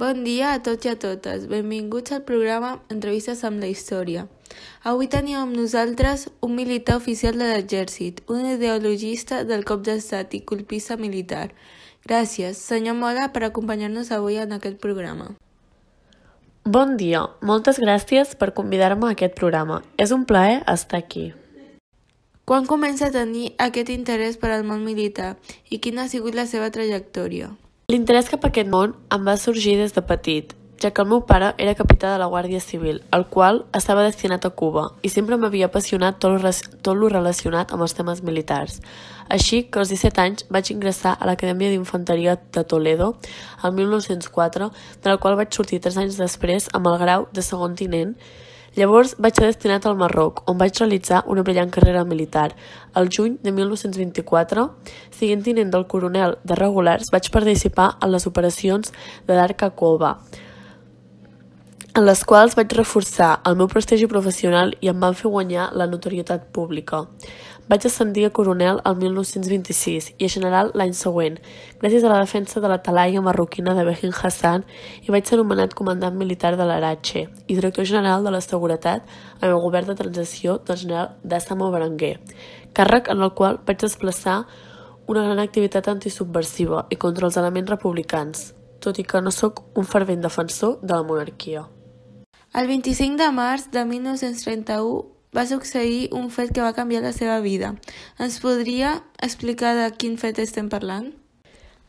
Bon dia a tots i a totes. Benvinguts al programa Entrevistes amb la Història. Avui tenim amb nosaltres un militar oficial de l'exèrcit, un ideologista del cop d'estat i colpista militar. Gràcies, senyor Mola, per acompanyar-nos avui en aquest programa. Bon dia, moltes gràcies per convidar-me a aquest programa. És un plaer estar aquí. Quan comença a tenir aquest interès per al món militar i quina ha sigut la seva trajectòria? L'interès cap a aquest món em va sorgir des de petit, ja que el meu pare era capità de la Guàrdia Civil, el qual estava destinat a Cuba, i sempre m'havia apassionat tot lo relacionat amb els temes militars. Així que als 17 anys vaig ingressar a l'Acadèmia d'Infanteria de Toledo el 1904, de la qual vaig sortir 3 anys després amb el grau de segon tinent. Llavors vaig ser destinat al Marroc, on vaig realitzar una brillant carrera militar. Al juny de 1924, sent tinent del coronel de regulars, vaig participar en les operacions de Darqua-Koba, en les quals vaig reforçar el meu prestigi professional i em van fer guanyar la notorietat pública. Vaig ascendir a coronel el 1926 i a general l'any següent, gràcies a la defensa de la talaia marroquina de Behin Hassan, i vaig ser nomenat comandant militar de l'Arache i director general de la seguretat en el govern de transició del general Dàssamo Berenguer, càrrec en el qual vaig desplaçar una gran activitat antisubversiva i contra els elements republicans, tot i que no sóc un fervent defensor de la monarquia. El 25 de març de 1931 va succeir un fet que va canviar la seva vida. Ens podria explicar de quin fet estem parlant?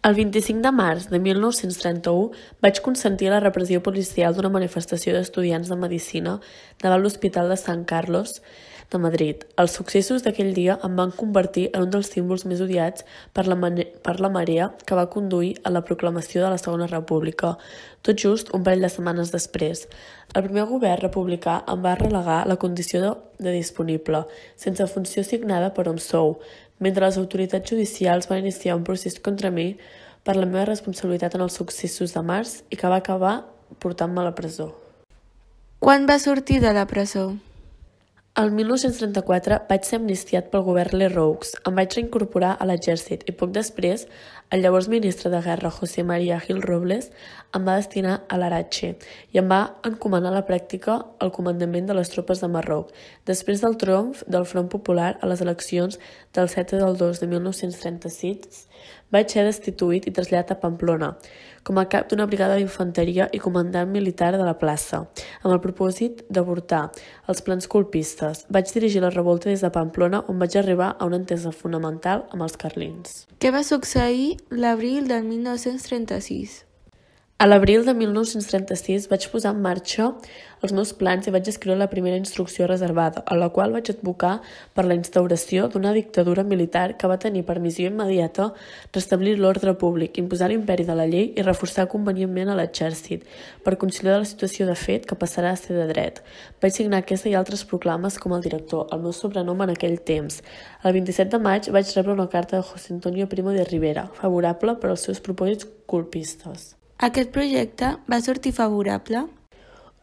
El 25 de març de 1931 vaig consentir la repressió policial d'una manifestació d'estudiants de Medicina davant l'Hospital de Sant Carlos de Madrid. Els successos d'aquell dia em van convertir en un dels símbols més odiats per la marea que va conduir a la proclamació de la Segona República, tot just un parell de setmanes després. El primer govern republicà em va relegar la condició de disponible, sense funció assignada per on sou, mentre les autoritats judicials van iniciar un procés contra mi per la meva responsabilitat en els successos de març i que va acabar portant-me a la presó. Quan va sortir de la presó? El 1934 vaig ser amnistiat pel govern Lerroux, em vaig reincorporar a l'exèrcit i poc després el llavors ministre de Guerra José María Gil Robles em va destinar a l'Arache i em va encomanar a la pràctica el comandament de les tropes de Marroc, després del triomf del Front Popular a les eleccions del 7 del 2 de 1936, vaig ser destituït i traslladat a Pamplona, com a cap d'una brigada d'infanteria i comandant militar de la plaça, amb el propòsit d'avortar els plans colpistes. Vaig dirigir la revolta des de Pamplona, on vaig arribar a una entesa fonamental amb els carlins. Què va succeir l'abril del 1936? A l'abril de 1936 vaig posar en marxa els meus plans i vaig escriure la primera instrucció reservada, a la qual vaig advocar per la instauració d'una dictadura militar que va tenir per missió immediata restablir l'ordre públic, imposar l'imperi de la llei i reforçar convenientment a l'exèrcit, per conciliar la situació de fet que passarà a ser de dret. Vaig signar aquesta i altres proclames com el director, el meu sobrenom en aquell temps. El 27 de maig vaig rebre una carta de José Antonio Primo de Rivera, favorable per als seus propòsits colpistes. Aquest projecte va sortir favorable?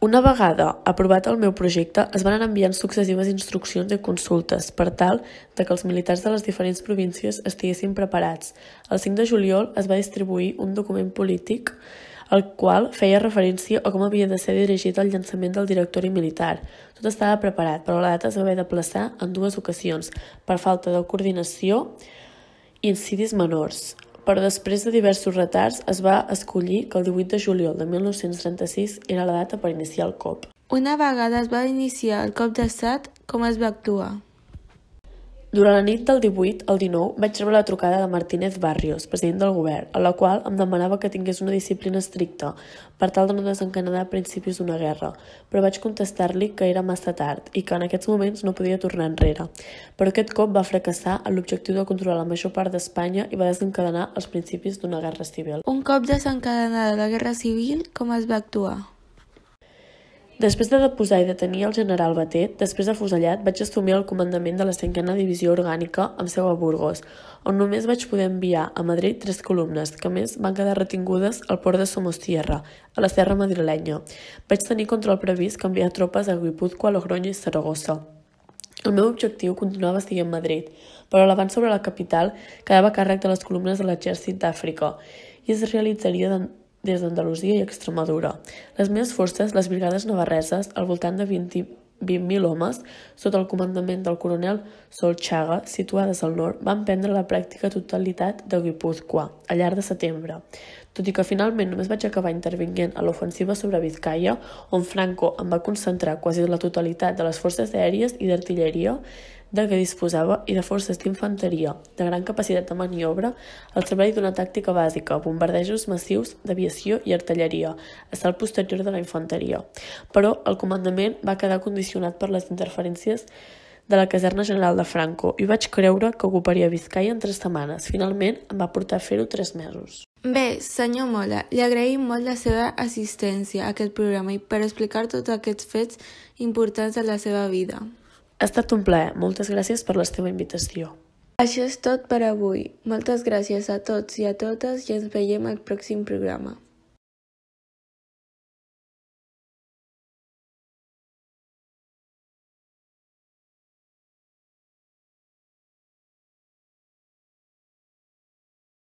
Una vegada aprovat el meu projecte, es van anar enviant successives instruccions i consultes per tal que els militars de les diferents províncies estiguessin preparats. El 5 de juliol es va distribuir un document polític el qual feia referència a com havia de ser dirigit el llançament del directori militar. Tot estava preparat, però la data es va haver d'aplaçar en 2 ocasions per falta de coordinació i incidis menors. Però després de diversos retards es va escollir que el 18 de juliol de 1936 era la data per iniciar el cop. Una vegada es va iniciar el cop d'estat, com es va actuar? Durant la nit del 18 al 19 vaig rebre la trucada de Martínez Barrios, president del govern, a la qual em demanava que tingués una disciplina estricta per tal de no desencadenar principis d'una guerra, però vaig contestar-li que era massa tard i que en aquests moments no podia tornar enrere. Però aquest cop va fracassar en l'objectiu de controlar la major part d'Espanya i va desencadenar els principis d'una guerra civil. Un cop desencadenada la guerra civil, com es va actuar? Després de deposar i detenir el general Batet, després afusellat, vaig assumir el comandament de la 5a Divisió Orgànica amb seu a Burgos, on només vaig poder enviar a Madrid 3 columnes, que a més van quedar retingudes al port de Somosierra, a la serra madrilenya. Vaig tenir contra el previst que enviar tropes a Guipúzcoa, Logroño i Saragossa. El meu objectiu continuava sent Madrid, però l'avanç sobre la capital quedava a càrrec de les columnes de l'exèrcit d'Àfrica i es realitzaria des d'Andalusia i Extremadura. Les meves forces, les brigades navarreses, al voltant de 20.000 homes, sota el comandament del coronel Solchaga, situades al nord, van prendre la pràctica totalitat de Guipúzcoa, al llarg de setembre. Tot i que finalment només vaig acabar intervinguent a l'ofensiva sobre Vizcaya, on Franco em va concentrar quasi la totalitat de les forces aèries i d'artilleria de què disposava i de forces d'infanteria de gran capacitat de maniobra al servei d'una tàctica bàsica, bombardejos massius d'aviació i artilleria, a salt posterior de la infanteria. Però el comandament va quedar condicionat per les interferències de la caserna general de Franco i vaig creure que ocuparia Vizcaya en 3 setmanes. Finalment em va portar a fer-ho 3 mesos. Bé, senyor Mola, li agraïm molt la seva assistència a aquest programa i per explicar tots aquests fets importants de la seva vida. Ha estat un plaer. Moltes gràcies per la teva invitació. Això és tot per avui. Moltes gràcies a tots i a totes i ens veiem al pròxim programa.